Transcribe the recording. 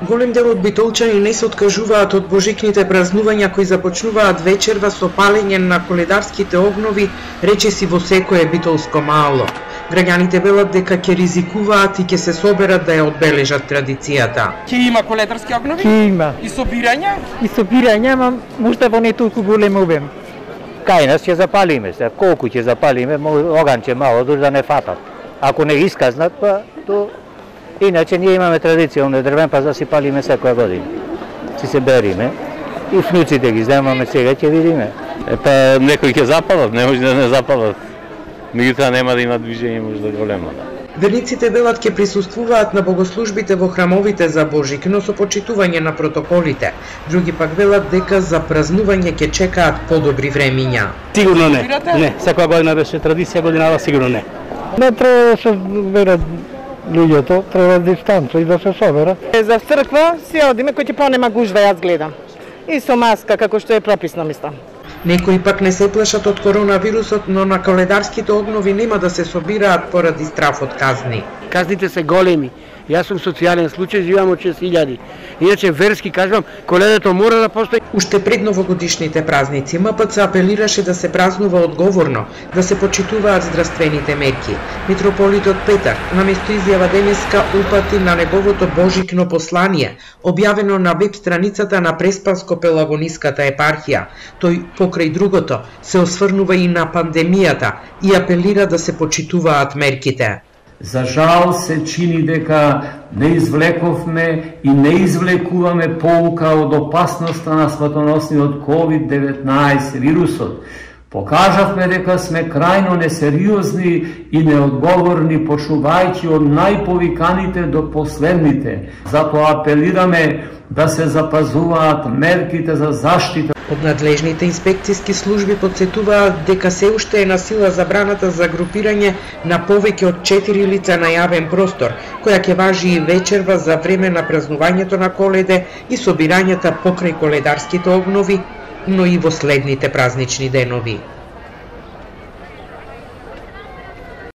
Голем дел од битолчани не се откажуваат од божикните празнувања кои започнуваат вечерва со палење на коледарските огнови, речиси во секое битолско мало. Граѓаните велат дека ќе ризикуваат и ќе се соберат да ја одбележат традицијата. Ќе има коледарски огнови? Ќе има. И собирања? И собирања, ама можда во не толку голем обем. Кај нас ќе запалиме се, колку ќе запалиме, оганче мало, дури да не фатат. Ако не исказнат, па то... Иначе ние имаме традиција, оне дрвен па да си палиме секоја година. Си се бериме и внуците ги земаме сега, ќе видиме. Па некои ќе запалат, не може да не запалат. Меѓутоа нема да има движење можда големо. Верниците велат ќе присуствуваат на богослужбите во храмовите за Божик, но со почитување на протоколите. Други пак велат дека за празнување ќе чекаат подобри времиња. Сигурно не. Не, секоја година беше традиција, годинава сигурно не. Не треба да се берат луѓето, треба дистанца и да се соберат. За црква си одиме кој ќе понема гужва, јас гледам. И со маска, како што е прописно, мислам. Некои пак не се плашат од коронавирусот, но на коледарските огнови нема да се собираат поради страф од казни. Казните се големи. Јас сум социјален случај, живеам од 6000. Иначе верски кажувам, коледето мора да постои. Уште пред новогодишните празници МПЦ апелираше да се празнува одговорно, да се почитуваат здравствените мерки. Митрополитот Петар наместо изјава денеска упати на неговото божикно послание, објавено на веб страницата на Преспанско-Пелагониската епархија. Тој покрај другото се осврнува и на пандемијата и апелира да се почитуваат мерките. За жал се чини дека не извлековме и не извлекуваме поука од опасноста на смртоносниот COVID-19 вирусот. Покажавме дека сме крајно несериозни и неодговорни, почнувајќи од најповиканите до последните. Затоа апелираме да се запазуваат мерките за заштита. Од надлежните инспекциски служби потсетуваат дека се уште е на сила забраната за групирање на повеќе од 4 лица на јавен простор, која ќе важи и вечерва за време на празнувањето на Коледе и собирањата покрај коледарските огнови, но и во следните празнични денови.